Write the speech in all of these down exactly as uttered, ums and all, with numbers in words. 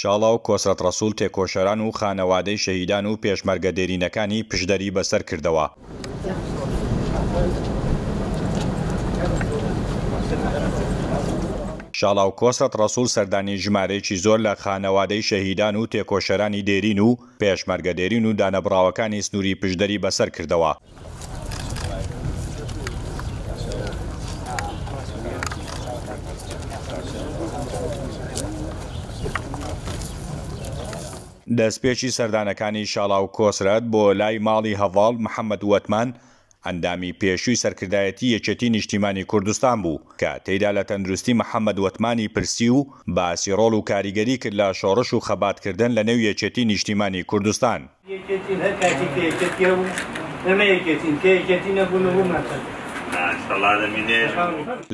شاڵاو کۆسرەت ڕەسوڵ تێکۆشەران و خانەوادەی شەهیدان و پێشمەرگە دێرینەکانی پشدەری بەسەر کردەوە. شاڵاو کۆسرەت ڕەسوڵ سەردانی ژمارەیەکی زۆر لە خانەوادەی شەهیدان و تێکۆشەرانی دێرین و پێشمەرگە دێرین و دانەبڕاوەکانی سنووری پشدەری بەسەر کردەوە. دەستپێکی سەردانەکانی شاڵاو کۆسرەت بۆ لای ماڵی هەڤاڵ محەممەد وەتمان، ئەندامی پێشووی سەرکردایەتی یەکێتی نیشتیمانی کوردستان بوو، کە تێیدا لە تەندروستی محەممەد وەتمانی پرسی و باسی ڕۆڵ و کاریگەری کرد لە شۆڕش و خەباتکردن لە نێو یەکێتی نیشتیمانی کوردستان. یەکێتین هەر کاتێک کە یەکێتی هەبوو ئێمە یەکێتین، کە یەکێتی نەبوو نەبوومان.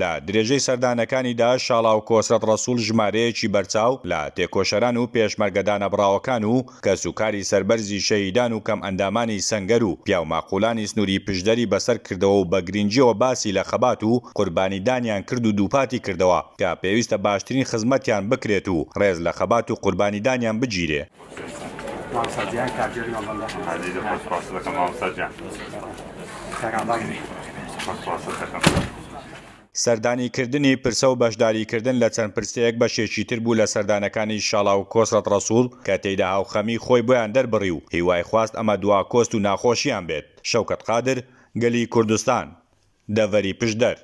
لە درێژەی سەردانەکانیدا شاڵاو کۆسرەت ڕەسوڵ ژمارەیەکی بەرچاو لە تێکۆشەران و پێشمەرگە دانەبڕاوەکان و کەسوکاری سەربەرزی شەهیدان و کەم ئەندامانی سەنگەر و پیاوماقولانی سنووری پشدەری بەسەر کردەوە و بە گرنگیەوە باسی لە خەبات و قوربانیدانیان کرد و دووپاتی کردەوە کە پێویستە باشترین خزمەتیان بکرێت و ڕێز لە خەبات و قوربانیدانیان بگیرێ. سەردانیکردنی پرسە و بەشداریکردن لە چەند پرسەیەک بەشێکی تر بوو لە سەردانەکانی شاڵاو کۆسرەت ڕەسوڵ کە تێیدا هاوخەمی خۆی بۆیان دەربڕی و هیوای خواست ئەمە دوا کۆست و ناخۆشیان بێت. شەوکەت قادر، گەلی کوردستان، دەڤەری پشدەر.